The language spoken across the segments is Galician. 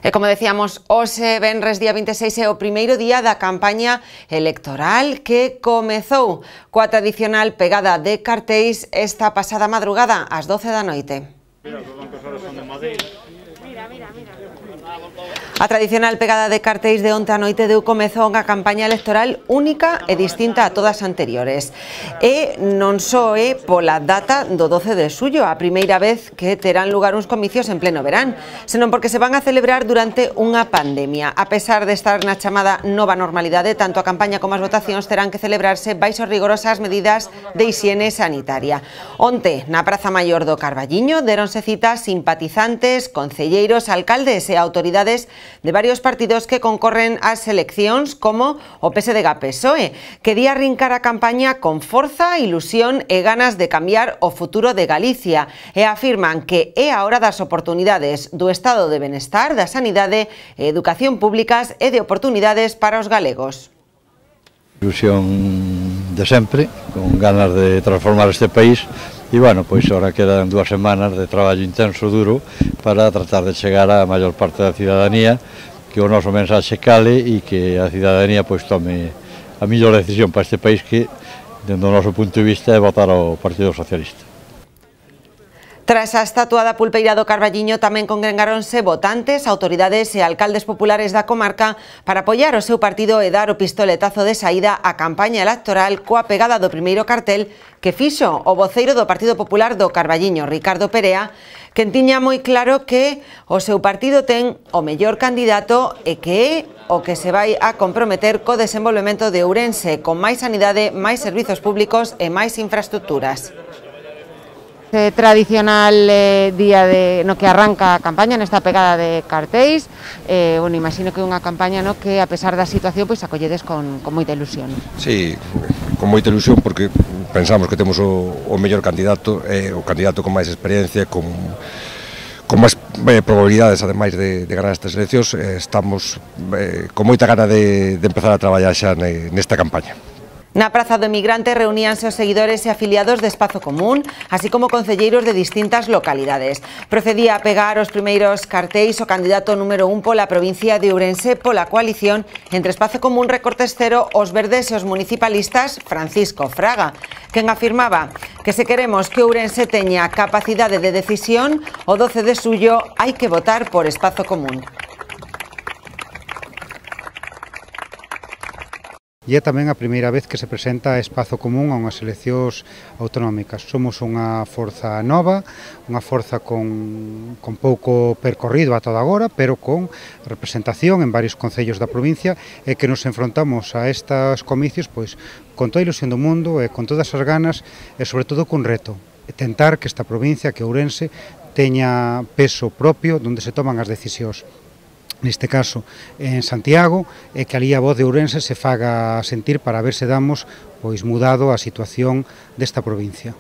E como decíamos, hoxe, venres día 26, é o primeiro día da campaña electoral que comezou coa tradicional pegada de cartéis esta pasada madrugada ás 12 da noite. A tradicional pegada de cartéis de onte a noite deu comezo a unha campaña electoral única e distinta a todas anteriores. E non só é pola data do 12 de xullo, a primeira vez que terán lugar uns comicios en pleno verán, senón porque se van a celebrar durante unha pandemia. A pesar de estar na chamada nova normalidade, tanto a campaña como as votacións terán que celebrarse baixo rigorosas medidas de hixiene sanitaria. Onte, na Praza Maior do Carballiño, deronse citas simpatizantes, concelleiros, alcaldes e autoridades de varios partidos que concorren ás eleccións como o PSDG-PSOE, que di arrincar a campaña con forza, ilusión e ganas de cambiar o futuro de Galicia e afirman que é a hora das oportunidades do estado de benestar, da sanidade e educación públicas e de oportunidades para os galegos. Ilusión de sempre, con ganas de transformar este país. E, bueno, pois ahora quedan 2 semanas de traballo intenso, duro, para tratar de chegar á maior parte da cidadanía, que o noso mensaxe cale e que a cidadanía pois tome a mellor decisión para este país, que, dentro do noso punto de vista, é votar ao Partido Socialista. Tras a estatua da pulpeira do Carballiño tamén congregáronse votantes, autoridades e alcaldes populares da comarca para apoiar o seu partido e dar o pistoletazo de saída á campaña electoral coa pegada do primeiro cartel que fixo o voceiro do Partido Popular do Carballiño, Ricardo Perea, que tiña moi claro que o seu partido ten o mellor candidato e que é o que se vai a comprometer co desenvolvemento de Ourense, con máis sanidade, máis servizos públicos e máis infraestructuras. Tradicional día no que arranca a campaña nesta pegada de cartéis. Bueno, imagino que é unha campaña no que, a pesar da situación, pois acolledes con moita ilusión. Sí, con moita ilusión, porque pensamos que temos o mellor candidato, o candidato con máis experiencia, con máis probabilidades, ademais de ganar estas eleccións. Estamos con moita gana de empezar a traballar xa nesta campaña. Na Praza do Emigrante reuníanse os seguidores e afiliados de Espazo Común, así como concelleiros de distintas localidades. Procedía a pegar os primeiros cartéis o candidato número 1 pola provincia de Ourense pola coalición entre Espazo Común, Recortes Cero, os Verdes e os municipalistas, Francisco Fraga, quen afirmaba que se queremos que Ourense teña capacidade de decisión, o 12 de xullo hai que votar por Espazo Común. E é tamén a primeira vez que se presenta Espazo Común a unhas eleccións autonómicas. Somos unha forza nova, unha forza con pouco percorrido a toda agora, pero con representación en varios concellos da provincia, e que nos enfrontamos a estes comicios pois con toda a ilusión do mundo e con todas as ganas, e sobre todo cun reto: tentar que esta provincia, que Ourense, teña peso propio onde se toman as decisións. Neste caso en Santiago, e que alí a voz de Ourense se faga sentir para ver se damos pois mudado a situación desta provincia.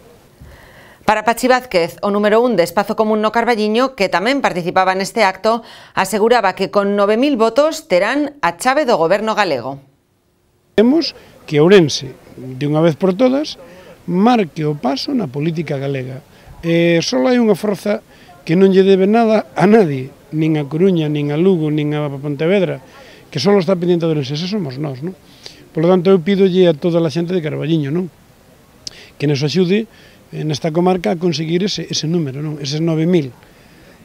Para Pachi Vázquez, o número 1 de Espazo Común no Carballiño, que tamén participaba neste acto, aseguraba que con 9.000 votos terán a chave do goberno galego. Temos que Ourense, de unha vez por todas, marque o paso na política galega. Só hai unha forza que non lle debe nada a nadie, nin a Coruña, nin a Lugo, nin a Pontevedra, que só está pendiente de Ourense, somos nós, non? Por lo tanto, eu pídolle a toda a xente de Carballiño, non? Que nos axude nesta comarca a conseguir ese número, non? Eses 9.000.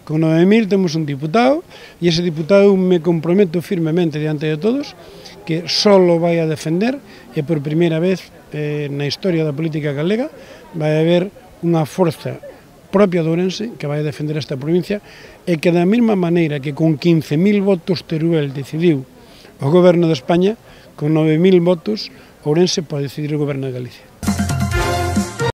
Con 9.000 temos un diputado, e ese diputado me comprometo firmemente diante de todos que só vai a defender, e por primeira vez na historia da política galega vai haber unha forza propia de Ourense que vai a defender esta provincia, e que da mesma maneira que con 15.000 votos Teruel decidiu o goberno de España, con 9.000 votos Ourense pode decidir o goberno de Galicia.